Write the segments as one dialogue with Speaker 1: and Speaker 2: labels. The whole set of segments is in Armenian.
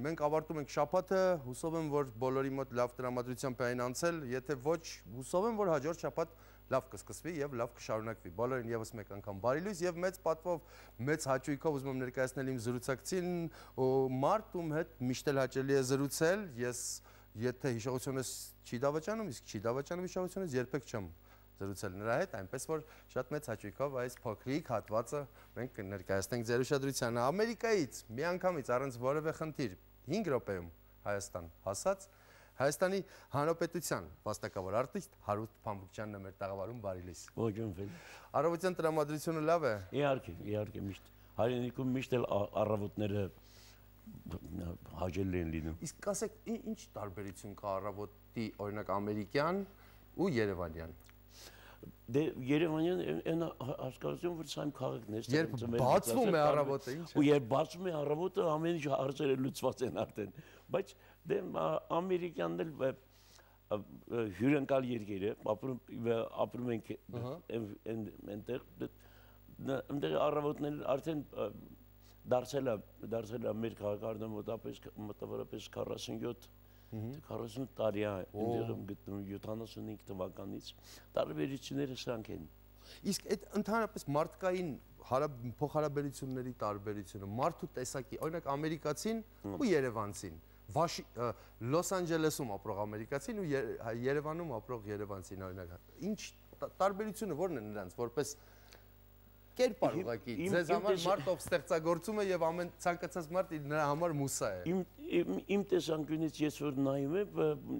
Speaker 1: մենք ավարտում ենք շաբաթը, հուսով եմ, որ բոլորի մոտ լավ տրամադրությամբ այն անցել, եթե ոչ, հուսով եմ, որ հաջորդ շաբաթ լավ կսկսվի եւ լավ կշարունակվի։ Բոլորին եւս մեկ անգամ բարի լույս եւ մեծ պատվով, մեծ հաճույքով ուզում եմ ներկայացնել իմ զրուցակցին մարդ, ում հետ միշտ էլ հաճելի է զրուցել, ես եթե հիշողությունս չի դավաճանում, իսկ չի դավաճանում հիշողությունս, երբեք չեմ զրուցել նրա հետ, այնպես որ շատ մեծ հաճույքով այս փոքրիկ հատվածը մենք կներկայացնենք ձեր ուշադրությանը։ Ամերիկայից միանգամից առանց որևէ խնդիր 5 րոպեում Հայաստան հասած Հայաստանի Հանրապետության վաստակավոր արտիստ Հարութ Փամբուկյանն է մեր տաղավարում, բարի լույս։
Speaker 2: Ողջույն։
Speaker 1: Առավոտյան տրամադրությունը լավ է։
Speaker 2: Իհարկե, միշտ հայրենիքում միշտ էլ առավոտները հաճելի են լինում։
Speaker 1: Իսկ ասեք, ինչ տարբերություն կա առավոտի, օրինակ ամերիկյան ու երևանյան։
Speaker 2: Դե Երևանյան այն հասկացում, որ սա իմ քաղաքն է։
Speaker 1: Երբ բացվում է առավոտը, ինչ է։
Speaker 2: Ու երբ բացվում է առավոտը, ամեն ինչ հարցերը լուծված են արդեն։ Բայց դե ամերիկյանն էլ հյուրընկալ երկիր է, ապրում ենք այնտեղ առավոտներ արդեն դարձել է մեր քաղաքարդը մոտավորապես 47 տարի է այնտեղ գտնում 75 թվականից, տարբերությունները սրանք են։
Speaker 1: Իսկ այդ ընդհանրապես մարդկային փոխհարաբերությունների տարբերությունը, մարդու տեսակի, օրինակ ամերիկացին ու երևանցին, Լոս Անջելեսում ապրող ամերիկացին ու Երևանում ապրող երևանցին, օրինակ, ինչ տարբերությունը ո՞րն է նրանց, որպես կերպար ուղղակի, ձեզ համար մարդ ով ստեղծագործում է եւ ամեն ցանկացած մարդ նրա համար մուսա է։
Speaker 2: Իմ տեսանկյունից ես որ նայում եմ,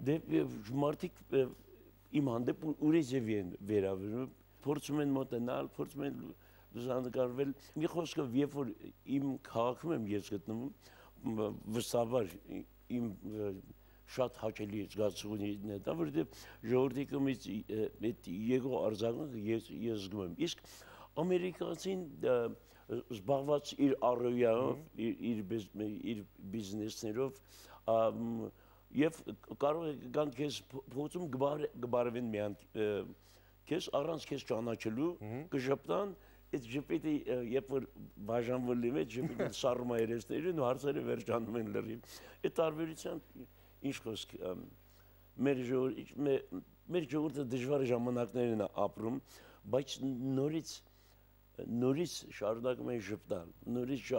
Speaker 2: դե մարդիկ իմ հանդեպ ուրիշ են վերաբերվում, փորձում են մոտենալ, փորձում են լուսանկարվել։ Մի խոսքով, երբ որ իմ քաղաքում եմ ես գտնվում, վստահաբար իմ շատ հաճելի զգացողությունն է դա, որովհետև ժողովրդի կողմից այդ եկող արձագանքը ես զգում եմ։ Իսկ ամերիկացին զբաղված իր առօրյայով, իր բիզնեսներով եւ կարող է գան քեզ փոխում գբարվեն միան քեզ առանց քեզ ճանաչելու կժպտան այդ ժպիտի երբ որ բաժանվելու է ժպիտը սառում է երեսներին ու հարցերը վերջանում են լրիվ։ Այդ տարբերության ինչ խոսք մեր ժողովուրդը դժվար ժամանակներն է ապրում, բայց նորից շարունակում են ժպտալ, նորից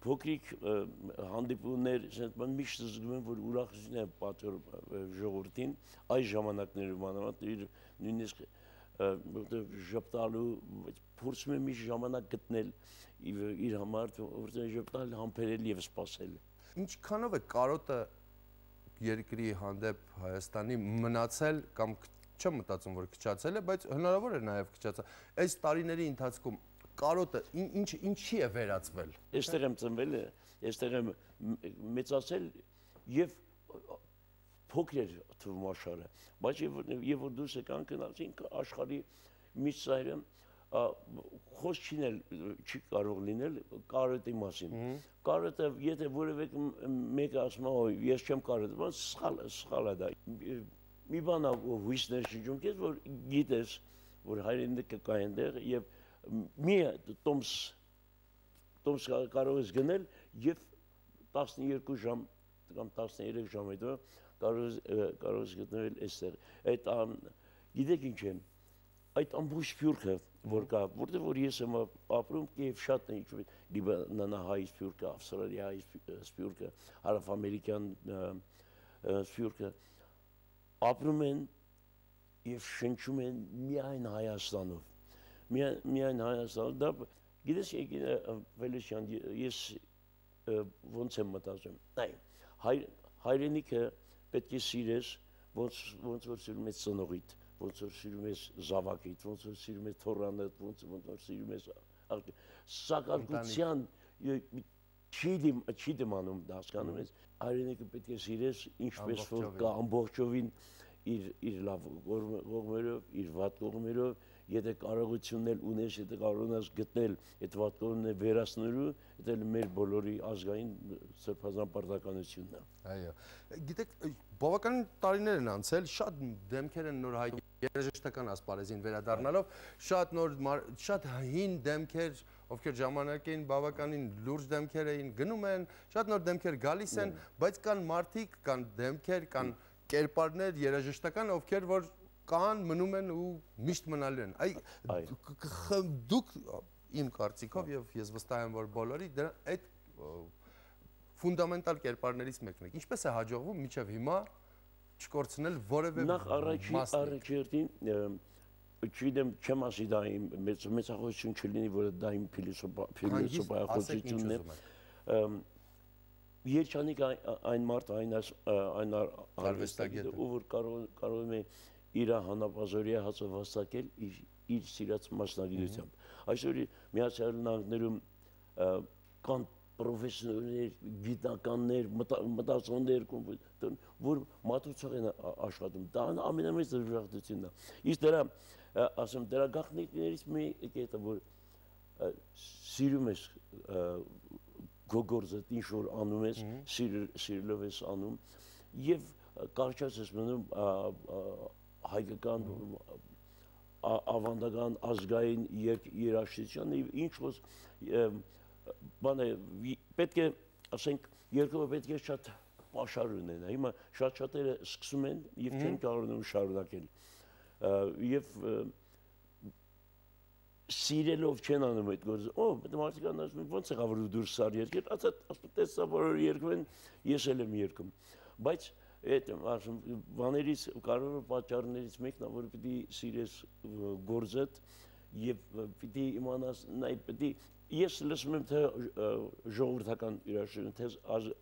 Speaker 2: փոքրիկ հանդիպումներ, միշտ զգում եմ, որ ուրախություն է պատճառ ժողովրդին այս ժամանակներում անհամեմատ նույնիսկ ժպտալու փորձում եմ միշտ ժամանակ գտնել իր համար, որտեղ ժպտալ համբերել եւ սպասել։
Speaker 1: Ինչքանով է կարոտը երկրի հանդեպ Հայաստանի մնացել կամ չեմ մտածում, որ քչացել է, բայց հնարավոր է նաև քչացել։ Այս տարիների ընթացքում կարոտը ինչի է վերածվել։
Speaker 2: Այստեղ եմ ծնվել, այստեղ եմ մեծացել եւ փոքր թվում աշխարհը, բայց եւ որ դուրս եկանք գնացինք աշխարհի միջսայրը խոսք չի կարող լինել կարոտի մասին։ Կարոտը, եթե որևէ մեկը ասում է, ես չեմ կարոտում, սխալ է դա։ Մի բան հույսներ շնչում քեզ, որ գիտես, որ հայրենիքը կա այնտեղ եւ մի տոմս կարող ես գնել եւ 12 ժամ կամ 13 ժամ հետո կարող ես գտնել այստեղ։ Այդ գիտեք ինչ է, այդ ամբողջ սփյուռքը որ կա, որտեղ որ ես եմ ապրում եւ շատ է ինչ լիբանանահայ սփյուռքը, ավստրալիայի սփյուռքը, հարավամերիկյան սփյուռքը ապրում են եւ շնչում են միայն Հայաստանով։ Միայն Հայաստանով, դա գիտես Վելիսյան, ես ոնց եմ մտածում։ Հայրենիքը պետք է սիրես, ոնց որ սիրում ես ծնողիդ, ոնց որ սիրում ես զավակիդ, ոնց որ սիրում ես թորանդ, ոնց որ սիրում ես սակարկության չի դիմանում, հասկանում ես, հայրենիքը պետք է սիրես, ինչպես որ կա ամբողջովին իր լավ կողմերով, իր վատ կողմերով, եթե կարողությունն ունես, եթե կարող ես գտնել այդ վատ կողմերը վերացնելու, դա մեր բոլորի ազգային սրբազան պարտականությունն է։
Speaker 1: Այո։ Գիտեք, բավական տարիներ են անցել, շատ դեմքեր են նոր հայտնի երաժշտական ասպարեզին վերադառնալով շատ հին դեմքեր, ովքեր ժամանակին բավականին լուրջ դեմքեր էին, գնում են, շատ նոր դեմքեր գալիս են, բայց կան մարդիկ, կան դեմքեր, կան կերպարներ երաժշտական, ովքեր որ կան, մնում են ու միշտ մնալու են։ Դուք իմ կարծիքով եւ ես վստահ եմ, որ բոլորի այդ ֆունդամենտալ կերպարներից մեկն է։ Ինչպես է հաջողվում մինչև հիմա չկորցնել որևէ
Speaker 2: նախ առաջին չգիտեմ չեմ ասի դա իմ մեծախոսություն չլինի, որ դա իմ փիլիսոփայախոսությունն է։ Երջանիկ այն մարդ, այն արվեստագետը, ով որ կարող է իր հանապազորիա հացը վաստակել իր սիրած մասնագիտությամբ։ Այսօր Միացյալ Նահանգներում կան պրոֆեսորներ, գիտնականներ, մտածողներ, որ մատուցող են աշխատում, դա ամենամեծ դժվարությունն է։ Իսկ դրա, ասեմ, դրա գաղտնիքներից մեկը է, որ սիրում ես գոգորձը, ինչ որ անում ես, սիրելով ես անում, և կարճած ես մնում հայկական ավանդական ազգային երաժշտության, ինչ որ բանը պետք է, ասենք, երկրորդ պետք է շատ պաշար ունենա, հիմա շատ-շատերը սկսում են և չեն կարողանում շարունակել և սիրելով չեն անում այդ գործը, մարդիկան ասում են, ոնց եղավ որ դուրս սար երկեր, ասում տեսա բոլորը երկում են, ես էլ եմ երկում, բայց այդ բաներից կարևոր պատճառներից մեկն է, որ պիտի սիրես գործդ և պիտի իմանաս, ես լսում եմ թե ժողովրդական երաժշտություն, թե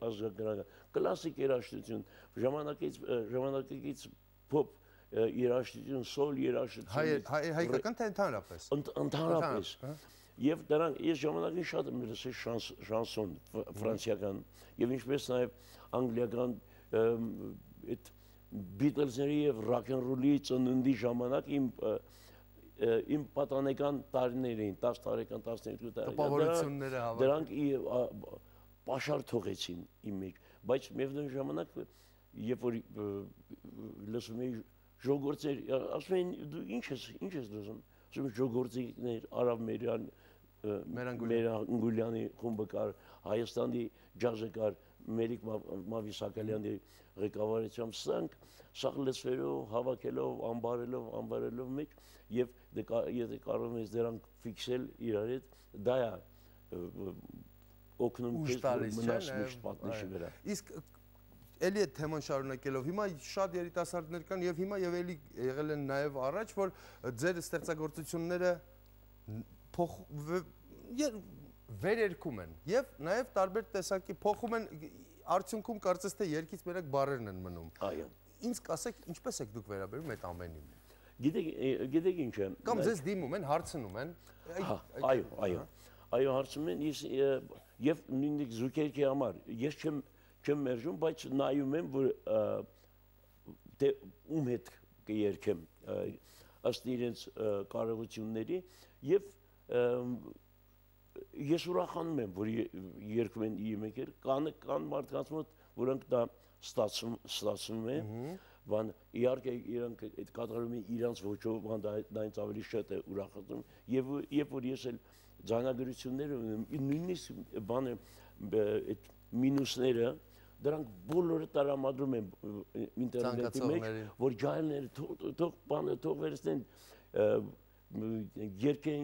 Speaker 2: ազգագրական, կլասիկ երաժշտություն, ժամանակակից փոփ երաժշտություն, սոլ երաժշտություն։
Speaker 1: Հայկական թե ընդհանրապես։
Speaker 2: Ընդհանրապես։ Եվ դրանք ես ժամանակին շատ եմ լսել շանսոն ֆրանսիական և ինչպես նաև անգլիական Բիթլզների և ռոքենռոլի ծննդի ժամանակ իմ պատանեկան տարիներ էին, 10 տարեկան, 12 տարեկան, դրանք պաշար թողեցին իմ մեջ, բայց միևնույն ժամանակ, երբ որ լսում էի ժողովրդներ, ասում էին, դու ինչ ես լսում, ասում են ժողովրդիկներ, Արաբ Մերանգուլյանի խումբը կար, Հայաստանի ջազը կար, Մերիկ Մավիսակալյանի ղեկավարությամբ, սաղ լսվելով, հավաքելով, ամբարելով մեջ և եթե կարող ես դրանք ֆիքսել իրար հետ, դա է օգնում քեզ, որ մնաս միշտ պատնեշի վրա։
Speaker 1: Իսկ էլի այդ թեման շարունակելով, հիմա շատ երիտասարդներ կան և հիմա և էլի եղել են նաև առաջ, որ ձեր ստեղծագործությունները վերերքում են և նաև տարբեր տեսակի փոխում են, արդյունքում կարծես թե երգից մենակ բառերն են մնում։ Ինձ կասեք, ինչպես եք դուք վերաբերում այդ ամենին։
Speaker 2: Գիտեք ինչ է։
Speaker 1: Կամ ձեզ դիմում են, հարցնում են։
Speaker 2: Այո, հարցնում են և նույնիկ զուգերքի համար։ Ես չեմ մերժում, բայց նայում եմ, որ ում հետ կերքեմ ըստ իրենց կարողությունների և ես ուրախանում եմ, որ երգում են իմեկեր, կան մարդկանց մոտ, որոնք դա ստացվում է, իհարկե իրանք այդ կատարում են իրանց ոճով, դա ինձ ավելի շատ է ուրախացնում, երբ որ ես էլ ձայնագրություններ ունեմ, նույնիսկ բանը այդ մինուսները, դրանք բոլորը տարամադրում են ինտերնետի մեջ, որ ջայլները թող վերցնեն երկեն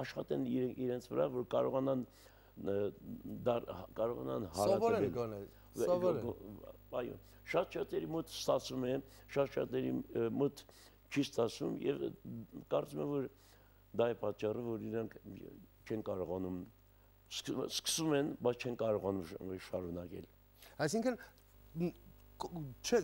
Speaker 2: աշխատեն իրենց վրա, որ կարողանան հարատվել։ Այո, շատ-շատերի մոտ ստացվում է, շատ-շատերի մոտ չի ստացվում և կարծում եմ, որ դա է պատճառը, որ իրանք չեն կարողանում, սկսում են, բայց չեն կարողանում շարունակել։
Speaker 1: Այսինքն,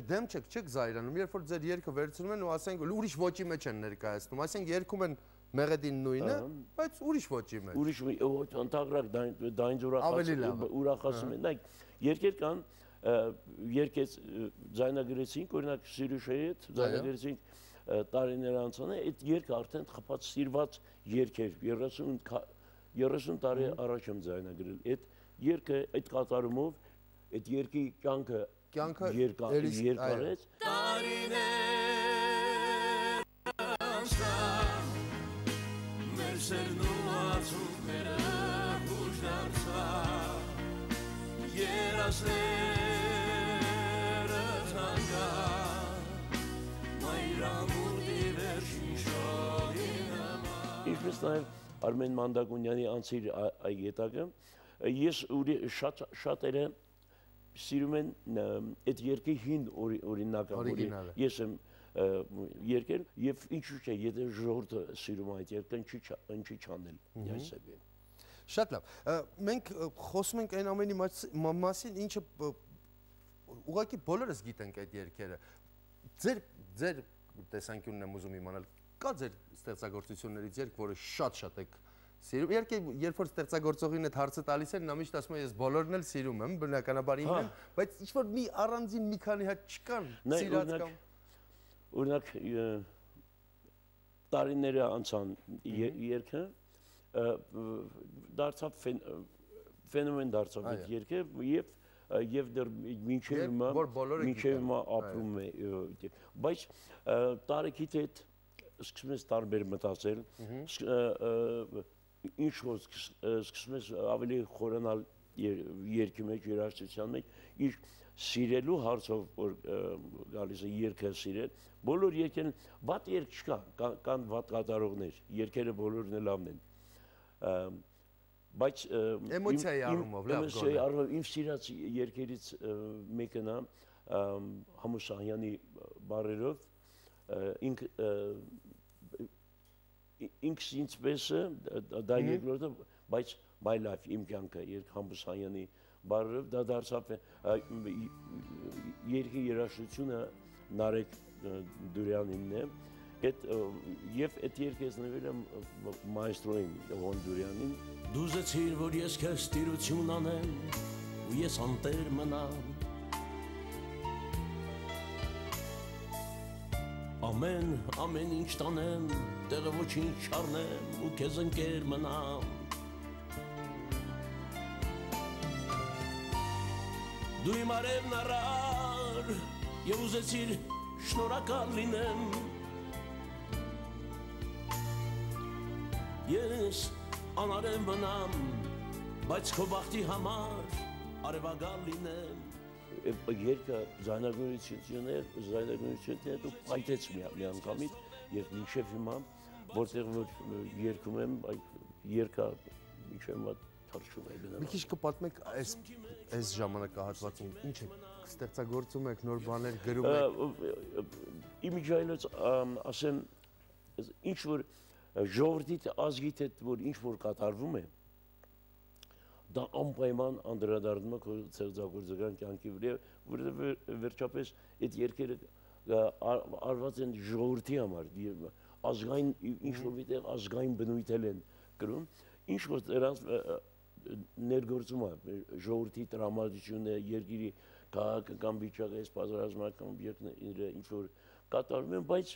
Speaker 1: դեմ չեք զայրանում, երբ որ ձեր երգը վերցնում են ու ասենք ուրիշ ոճի մեջ են ներկայացնում, ասենք երգում են մեղեդին նույնը, բայց ուրիշ ոճի մեջ։
Speaker 2: Ուրիշ ոճ, ընդհանրակ դա ինձ ուրախացնում է։ Երգեր կան, երգեց ձայնագրեցինք, օրինակ Սիրուշեի հետ, ձայնագրեցինք տարիներ անցան է, այդ երգը արդեն խփած սիրված երգ էր, 30 տարի առաջ եմ ձայնագրել, այդ երգը այդ կատարումով, այդ երգի կյանքը երկարեց, Սերն ու ածուկները հուշ դարձան Երասները թանկան Մայրամուտի վերջին շողի նման Ինչպես նաև Արմեն Մանդակունյանի անցիր այ գետակը ես շատերը սիրում են այդ երկի հին օրինակը ես եմ երկել եւ ինչու՞ չէ եթե ժողովուրդը սիրում այդ երկը ինչի չանել այսպես
Speaker 1: Շատ լավ մենք խոսում ենք այն ամենի մասին ինչը ուղղակի բոլորս գիտենք այդ երկերը ձեր տեսանկյունն եմ ուզում իմանալ կա ձեր ստեղծագործություններից երկ որը շատ եք սիրում երկե երբ որ ստեղծագործողին այդ հարցը տալիս են նա միշտ ասում է ես բոլորն էլ սիրում եմ բնականաբար ինքն բայց ինչ որ մի առանձին մի քանի հատ չկան սիրած կամ
Speaker 2: Օրինակ տարիները անցան երկը դարձավ ֆենոմեն դարձավ այդ երկը եւ դեռ մինչեւ հիմա ապրում է բայց տարեքից հետ սկսում ես տարբեր մտածել ինչ որ սկսում ես ավելի խորանալ երկի մեջ երաժշտության մեջ իր սիրելու հարցով որ գալիս է երկը սիրել բոլոր երկերն վատ երկ չկա կան վատ կատարողներ երկերը բոլորն էլ լավն են բայց
Speaker 1: էմոցիայի առումով լավ գոնե
Speaker 2: իմ սիրած երկերից մեկն է Համուսահյանի բառերով ինքս ինձպես դա երկրորդը բայց my life իմ կյանքը երկ Համուսահյանի բառերով դա դարձավ երկի երաժշտությունը Նարեկ Դուրյանինն է եւ այդ երկը ես նվիրել եմ մայստրոին Հոն Դուրյանին Դուզեցիր որ ես քեզ տիրություն անեմ ու ես անտեր մնամ ամեն ինչ տանեմ տեղը ոչինչ չառնեմ ու քեզ ընկեր մնամ Դու իմ արևն առար եւ ուզեցիր շնորհակալ լինեմ Ես անարև մնամ բայց քո բախտի համար արևագալ լինեմ Երկը զայնագրությունները դու պայթեց մի անգամից եւ մինչեւ հիմա որտեղ որ երկում եմ երկը մինչեւ հիմա թռչում է գնում
Speaker 1: Մի քիչ կպատմեք այս ժամանակահատվածում ինչ է ստեղծագործում եք նոր բաներ գրում եք
Speaker 2: Իմիջայլոց ասեմ ինչ որ ժողովրդի ազգիդ հետ որ ինչ որ կատարվում է դա անպայման անդրադառնում է քո ստեղծագործական կյանքի վրա որովհետև վերջապես այդ երկերը արված են ժողովրդի համար ազգային ինչ որ միտեղ ազգային բնույթ են կրում ինչ որ դրանց ներգործում է ժողովրդի տրամադրությունը երկրի քաղաքական վիճակը այս պատերազմական օբյեկտները ինչ որ կատարվում են բայց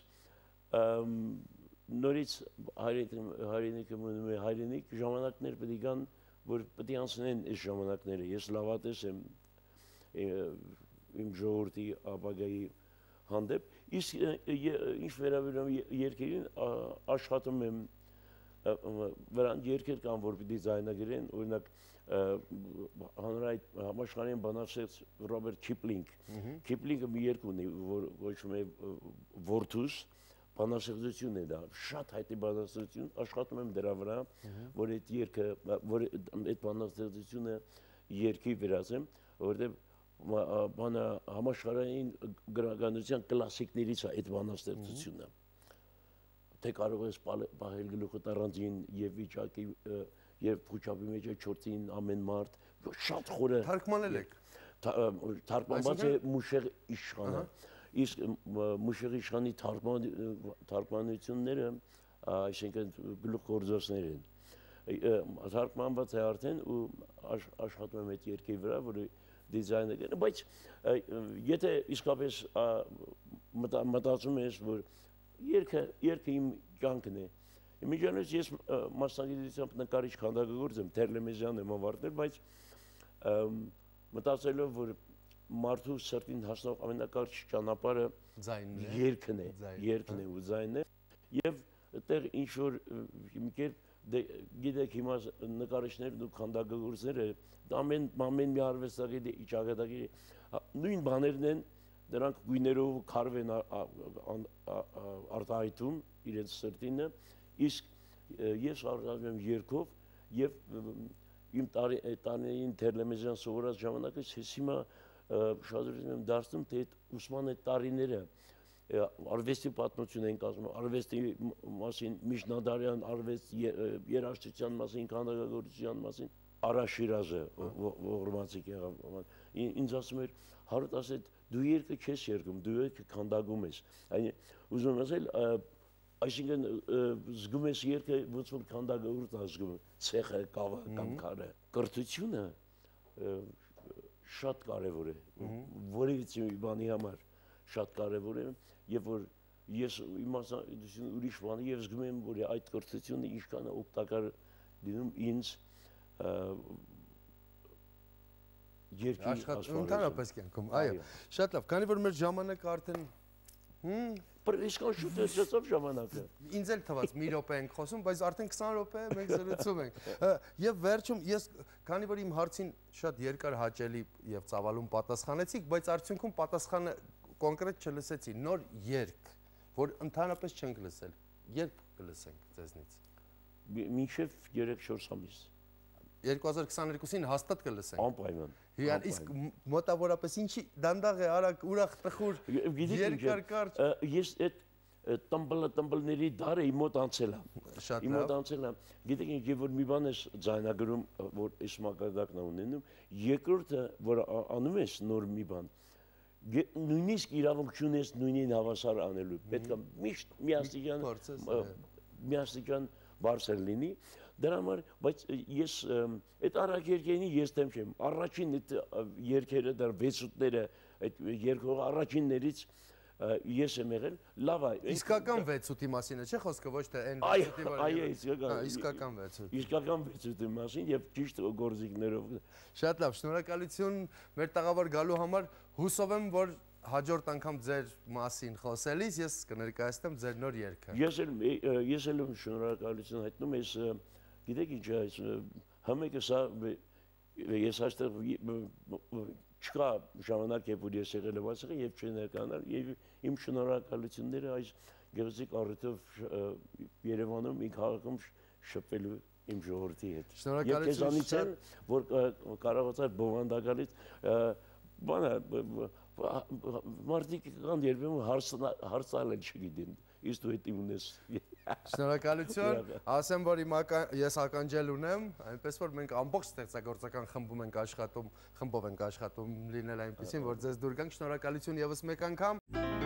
Speaker 2: նորից հայրենիքը մնում է հայրենիք ժամանակներ պետք է գան որ պետք է անցնեն այս ժամանակները ես լավատես եմ իմ ժողովրդի ապագայի հանդեպ իսկ ինչ վերաբերում երկերին աշխատում եմ վրան երկեր կան որ պիտի ձայնագրեն օրինակ հանրային համաշխարհային բանաստեղծ Ռոբերտ Քիպլինգը մի երգ ունի որ կոչվում է Որդուս բանաստեղծություն է դա շատ հայտնի բանաստեղծություն աշխատում եմ դրա վրա որ այդ երկը որ այդ բանաստեղծությունը երկի վերածեմ որովհետև բանը համաշխարհային գրականության կլասիկներից է այդ բանաստեղծությունը թե կարող ես պահել գլուխդ առանձին եւ վիճակի եւ փուչապի մեջ 4-ին ամեն մարդ շատ խորը
Speaker 1: թարգմանել եք
Speaker 2: թարգմանված է Մուշեղ Իշխանը իսկ Մուշեղ Իշխանի թարգմանությունները այսինքն գլուխգործոցներ են թարգմանված է արդեն ու աշխատում եմ այդ երկի վրա որը դիզայներ բայց եթե իսկապես մտածում ես որ երկը իմ կյանքն է Իմիջիանոց ես մասնագիտությամբ նկարիչ քանդակագործ եմ Թերլեմեզյան եմ ավարտել բայց մտածելով որ մարդու սրտին հասնող ամենակարճ ճանապարհը երկն է ու ձայնն է եւ այդտեղ ինչ որ մի կերպ գիտեք հիմա նկարիչներն ու քանդակագործները ամեն մի արվեստագետի ճակատագի նույն բաներն են դրանք գույներով քարվ են արտահայտում իրենց սրտինը իսկ ես արժանացել եմ երկով եւ իմ տարիներին տելևիզիոն սովորած ժամանակից ես հիմա շատ եմ դարձնում թե այդ ուսման այդ տարիները արվեստի պատմություն են կազմում, արվեստի մասին, միջնադարյան արվեստ երաժշտության մասին, քանդակագործության մասին, Արա Շիրազը, ողորմածիկ եղավ, ինձ ասում էր, Հարութ ասեց, դու երգը չես երգում, դու երգը քանդակում ես, ուզում եմ ասել, այսինքն զգում ես երգը, ոնց որ քանդակագործ զգում, ցեխը, կավը կամ քարը, կրթությունը շատ կարևոր է, որևիցե մի բանի համար շատ կարևոր է, եւ որ ես իմացություն ուրիշ բան եւ զգում եմ որ այդ կրթությունը ինչքան է օգտակար լինում ինձ երկրի
Speaker 1: աշխատանքում ընդհանրապես կյանքում այո շատ լավ քանի որ մեր ժամանակը արդեն
Speaker 2: Իսկան շուտ է ծծով ժամանակը
Speaker 1: ինձ էլ թվաց մի րոպե ենք խոսում բայց արդեն 20 րոպե մենք զրուցում ենք եւ վերջում ես քանի որ իմ հարցին շատ երկար հաճելի եւ ծավալուն պատասխանեցիք բայց արդյունքում պատասխանը կոնկրետ չլսեցի, նոր երգ, որ ընդհանրապես չենք լսել, երբ կլսենք ձեզնից։
Speaker 2: Մինչև 3-4 ամիս։
Speaker 1: 2022-ին հաստատ կլսենք։
Speaker 2: Անպայման։
Speaker 1: Իսկ մոտավորապես ինչի դանդաղ է, արագ, ուրախ, տխուր, երկար կարճ։
Speaker 2: Ես այդ տմբլների դարը իմ մոտ անցել է։ Իմ մոտ անցել է։ Գիտեք ինչ որ մի բան ես ձայնագրում, որ այս մակարդակն ունենում, երկրորդը, որ անում ես նոր մի բան, նույնիսկ իրավունք չունես նույնին հավասար անելու, պետք է միշտ միաստիճան բարձր լինի, դրա համար, բայց ես այդ արագ երկերին ես դեմ չեմ, առաջին այդ երկերը, դար վեցուտները, այդ երկող առաջիններից ես եմ եղել, լավ է։
Speaker 1: Իսկական վեցուտի մասին է, չէ՞ խոսքը, ոչ թե այն իսկական վեցուտ։
Speaker 2: Իսկական վեցուտի մասին եւ ճիշտ գործիքներով։
Speaker 1: Շատ լավ, շնորհակալություն մեր տաղավար գալու համար, հուսով եմ, որ հաջորդ անգամ ձեր մասին խոսելիս ես կներկայացնեմ ձեր նոր երգը։
Speaker 2: Ես էլ շնորհակալություն հայտնում ես, գիտեք ինչ է, համեկը սա ես այստեղ չկա ժամանակ երբ որ ես եղել եմ ասեղը եւ չներկանալ եւ իմ շնորհակալությունները այս գեղեցիկ առիթով Երևանում իմ քաղաքում շփվելու իմ ժողովրդի հետ։
Speaker 1: Շնորհակալություն,
Speaker 2: որ կարողացա բովանդակալից բանը մարդիկ կան երբեմն հարցալ են չգիտեն իսկ դու հետ ունես
Speaker 1: Շնորհակալություն, ասեմ որ ես ականջել ունեմ, այնպես որ մենք ամբողջ ստեղծագործական խմբում ենք աշխատում, խմբով ենք աշխատում լինել այնպեսին, որ ձեզ դուր գանք, շնորհակալություն եւս մեկ անգամ